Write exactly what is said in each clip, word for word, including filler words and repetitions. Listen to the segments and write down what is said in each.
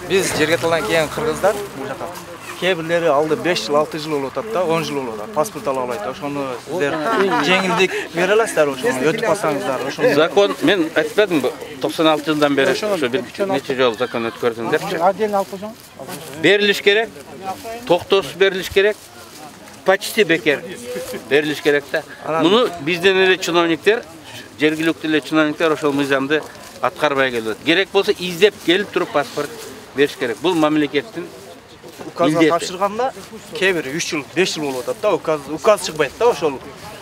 Биз жерге талдан келген кыргыздар бул жака кээ бирлери алды беш жыл, алты жыл болуп атат да, он жыл болуп атат. Паспорт ала албайт. Ошону сиздер жеңилдик бере аласыздар, ошону өтүп калсаңыздар, ошону. Закон мен айтпадымбы, токсон алты жылдан бери ошо бир нече жолу закон өткөрдүңдөрчү. Отдельно алып койсоң. Берилиш керек. Токтоосуз берилиш керек. Почти бекер берилиш керек да. Муну бизден эле чиновниктер, жергиликтүү эле чиновниктер ошол мыйзамды аткарбай келет. Керек болсо издеп келип туруп паспорт бериш керек. Бул мамлекеттин указга тапшырганда кээ бири үч жыл, беш жыл болуп атат да, указ указ чыкпайт да ошол.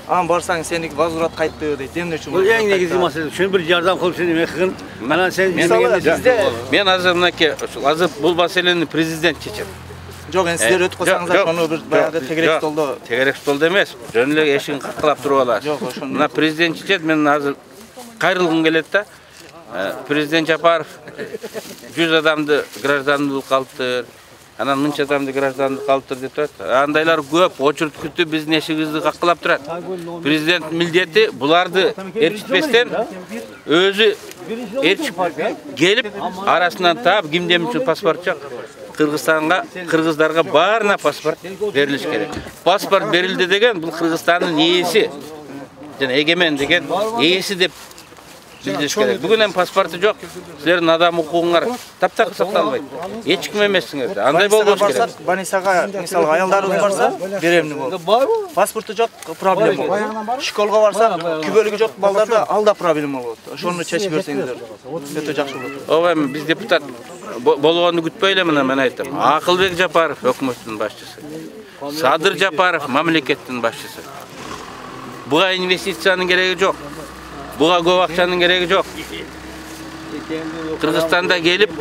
Анан барсаң сеники возврат кайтты дейт. Эмне үчүн? Бул эң негизги маселе. Ошон бир жардам кылып сени эме кылгын. Анан сен мен азыр мынакей ошол азыр бул маселени президент чечет. Жок, эми сиздер өтүп калсаңыздар, ошону бир баягы тегерек столдо. Тегерек столдо эмес. Жөн эле эшигин каткылап туруп аласыз. Жок, ошону. Мына президент чечет, мен азыр кайрылгым келет да. Президент Жапаров жүз адамды граждандуулукка алыптыр. Анан мынча адамды граждандыкка алыптыр деп турат. Андайлар көп, очередь күтүп биздин эшигибизди каткылап турат. Президент милдети буларды эркитпестен өзү эрчип келип арасынан таап кимден үчүн паспорт жок. Кыргызстанга, кыргыздарга баарына паспорт берилиш керек. Паспорт берилди деген бул Кыргызстандын ээси жана эгемен деген ээси деп билдириш керек. Бүгүн эми паспорту жок. Силердин адам укугуңар таптакыр сакталбайт. Эч ким эмессиңер. Андай болбош керек. Больницага, мисалы, аялдарыбыз барса, беремни болот. Паспорту жок, проблема болот. Школго барса, күбөлүгү жок балдарда ал да проблема болот. Ошону чечип берсеңиздер өтө жакшы болот. Ооба, эми биз депутат болгонду күтпөй эле мына мен айтам. Акылбек Жапаров өкмөттүн башчысы. Садыр Жапаров мамлекеттин башчысы. Буга инвестициянын кереги жок. Буга көп акчанын кереги жок. Кыргызстанда келип,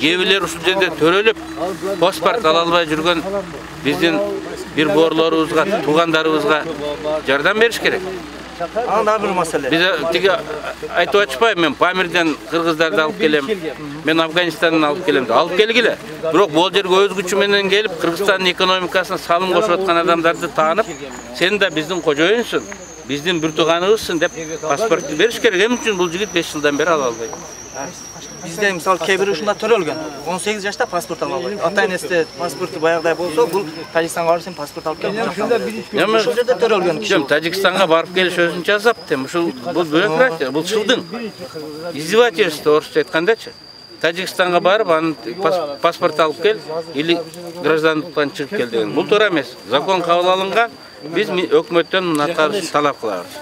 кээбилер ушул жерде төрөлүп, паспорт ала албай жүргөн биздин бир боорлорубузга, туугандарыбызга жардам бериш керек. Анан дагы бир маселе. Биз тиги айтып атышпайбы, мен Памирден кыргыздарды алып келем, мен Афганистандан алып келем деп. Алып келгиле. Бирок бул жерге өз күчү менен келип, Кыргызстандын экономикасына салым кошуп аткан адамдарды таанып, сен да биздин кожоюнсуң, биздин бир тууганыбызсың деп паспортты бериш керек. Эмне үчүн бул жигит беш жылдан бери ала албайт? Бизде мисалы кээ бир ушунда төрөлгөн. он сегиз жашта паспорт ала албайт. Ата-энеси паспорту баягыдай болсо, бул Тажикстанга барып сен паспорт алып кел. Эми ушул жерде төрөлгөн киши. Жок, Тажикстанга барып келиш өзүнчө азап тем. Ушул бул бюрократия, бул чылдың. Издевательство орусча айткандачы. Тажикстанга барып анын паспорт алып кел или граждандыктан чыгып кел деген. Бул туура эмес. Закон кабыл алынган. Биз өкмөттөн муну аткарышты талап кылабыз.